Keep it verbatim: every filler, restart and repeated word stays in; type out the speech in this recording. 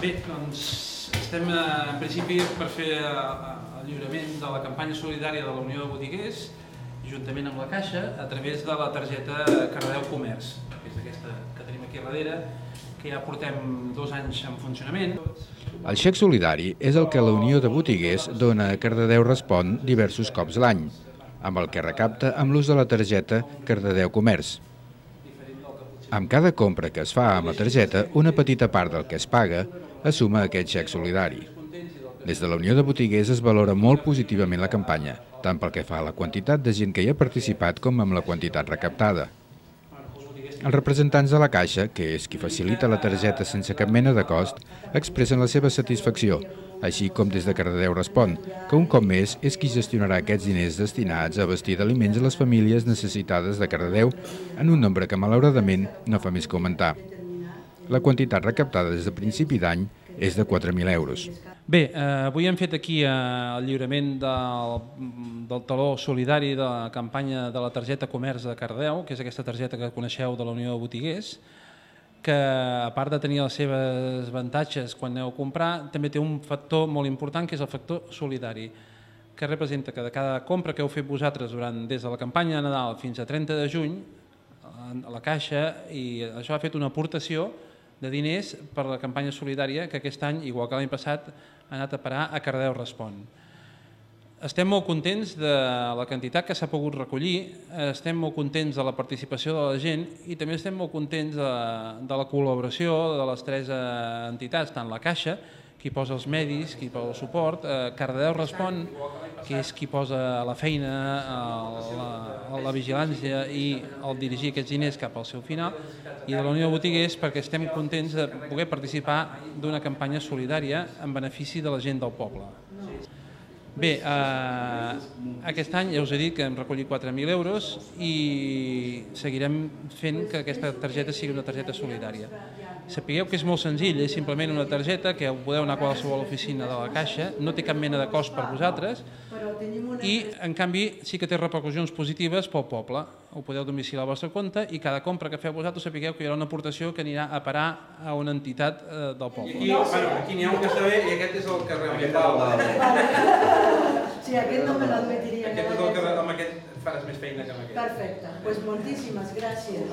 Bé, doncs estem en principi per fer el lliurament de la campanya solidària de la Unió de Botiguers, juntament amb la Caixa, a través de la targeta Cardedeu Comerç, que és aquesta que tenim aquí darrere, que ja portem dos anys en funcionament. El xec solidari és el que la Unió de Botiguers dona a Cardedeu Respon diversos cops l'any, amb el que recapta amb l'ús de la targeta Cardedeu Comerç. Amb cada compra que es fa amb la targeta, una petita part del que es paga es suma a aquest xec solidari. Des de la Unió de Botiguers es valora molt positivament la campanya, tant pel que fa a la quantitat de gent que hi ha participat com amb la quantitat recaptada. Els representants de la Caixa, que és qui facilita la targeta sense cap mena de cost, expressen la seva satisfacció, així com des de Cardedeu Respon, que un cop més és qui gestionarà aquests diners destinats a abastir d'aliments a les famílies necessitades de Cardedeu en un nombre que malauradament no fa més que augmentar. La quantitat recaptada des de principi d'any és de quatre mil euros. Bé, eh, avui hem fet aquí eh, el lliurament del, del taló solidari de la campanya de la targeta Comerç de Cardedeu, que és aquesta targeta que coneixeu de la Unió de Botiguers, que a part de tenir els seus avantatges quan aneu a comprar, també té un factor molt important, que és el factor solidari, que representa que de cada compra que heu fet vosaltres durant des de la campanya de Nadal fins a trenta de juny, a la Caixa, i això ha fet una aportació de diners per a la campanya solidària que aquest any, igual que l'any passat, ha anat a parar a Cardedeu Respon. Estem molt contents de la quantitat que s'ha pogut recollir, estem molt contents de la participació de la gent i també estem molt contents de, de la col·laboració de les tres entitats, tant la Caixa, qui posa els medis, qui posa el suport, eh, Cardedeu Respon, que és qui posa la feina, la, la vigilància i el dirigir aquests diners cap al seu final, i de la Unió de Botiguers perquè estem contents de poder participar d'una campanya solidària en benefici de la gent del poble. Bé, eh, aquest any ja us he dit que hem recollit quatre mil euros i seguirem fent que aquesta targeta sigui una targeta solidària. Sapigueu que és molt senzill, és simplement una targeta que podeu anar a qualsevol oficina de la Caixa, no té cap mena de cost per vosaltres i, en canvi, sí que té repercussions positives pel poble. Ho podeu domiciliar al vostre compte i cada compra que feu vosaltres sapigueu que hi haurà una aportació que anirà a parar a una entitat eh, del poble. I aquí, bueno, aquí n'hi ha un que està bé i aquest és el que realment... Sí, aquest no me l'admetiria. Aquest és el que amb aquest faràs més feina que amb aquest. Perfecte, doncs moltíssimes gràcies.